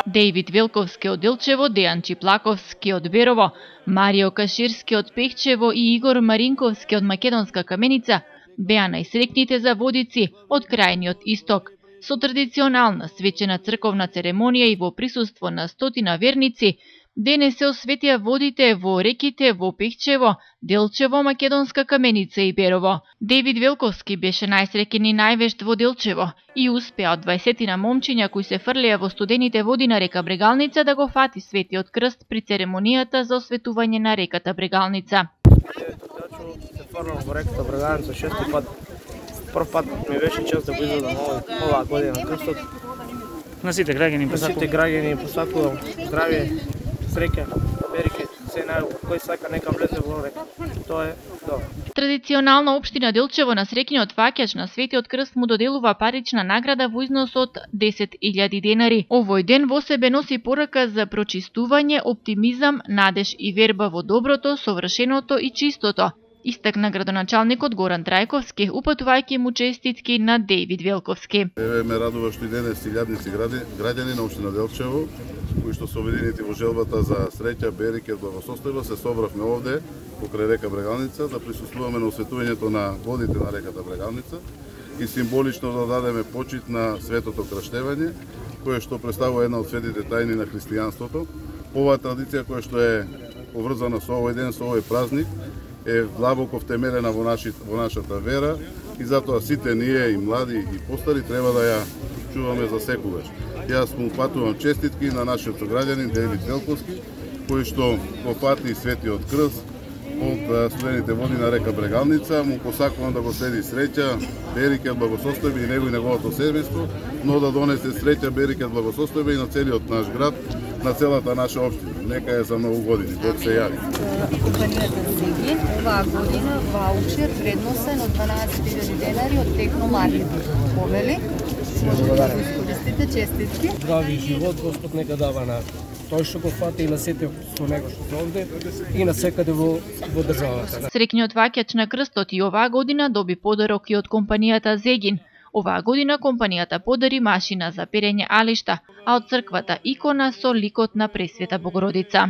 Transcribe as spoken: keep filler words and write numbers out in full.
Дејвид Велковски од Делчево, Дејан Чиплаковски од Берово, Марио Каширски од Пехчево и Игор Маринковски од Македонска Каменица беа најсрекните заводици од крајниот исток. Со традиционална свечена црковна церемонија и во присуство на стотина верници, денес се осветија водите во реките во Пехчево, Делчево, Македонска Каменица и Берово. Дејвид Велковски беше најсреќен и највешт во Делчево и успеа од дваесетина момчиња кои се фрлеа во студените води на река Брегалница да го фати Светиот крст при церемонијата за осветување на реката Брегалница. Се фрлам во реката Брегалница шести пат. Прв пат ми беше чест да го изведам оваа година крстот. На сите граѓани посакувам. На сите граѓани посакувам здравје, среќа, береке, се најубаво. Кој сака нека влезе во река. Тоа е добро. Традиционално општина Делчево на среќниот фаќач на Светиот крст му доделува парична награда во износ од десет илјади денари. Овој ден во себе носи порака за прочистување, оптимизам, надеж и верба во доброто, совршеното и чистото, истакна градоначалникот Горан Трајковски, упатувајќи му честитки на Дејвид Велковски. Еве ме радува што и денес илјадници граѓани на општина Делчево, кои што се обединети во желбата за среќа, береке и благосостојба, се собравме овде покрај река Брегалница да присуствуваме на осветувањето на водите на реката Брегалница и символично да дадеме почит на светото крштевање, кое што представува една од светите тајни на христијанството. Оваа традиција која што е поврзана со овој ден, со овој празник, е длабоко втемелена во, наши, во нашата вера и затоа сите ние, и млади и постари, треба да ја чуваме за секогаш. Јас му упатувам честитки на нашиот сограѓанин Дејвид Велковски, кој што го фати Светиот крст од студените води на река Брегалница. Му посакувам да го следи среќа, береке, благосостојба и него и неговото семејство, но да донесе среќа, береке, благосостојба и на целиот наш град, на целата наша општина. Нека е за многу години. Бог се јави. Компанијата Зегин оваа година ваучер вредносен од дванаесет илјади денари од Техно Маркет. Повели, можете да го искористите, честитки. Здрави живот, Господ нека дава на тој што го фати и на сите со него што се овде и на секаде во, во државата. Среќниот фаќач на крстот и оваа година доби подарок и од компанијата Зегин. Оваа година компанијата подари машина за перење алишта, а од црквата икона со ликот на Пресвета Богородица.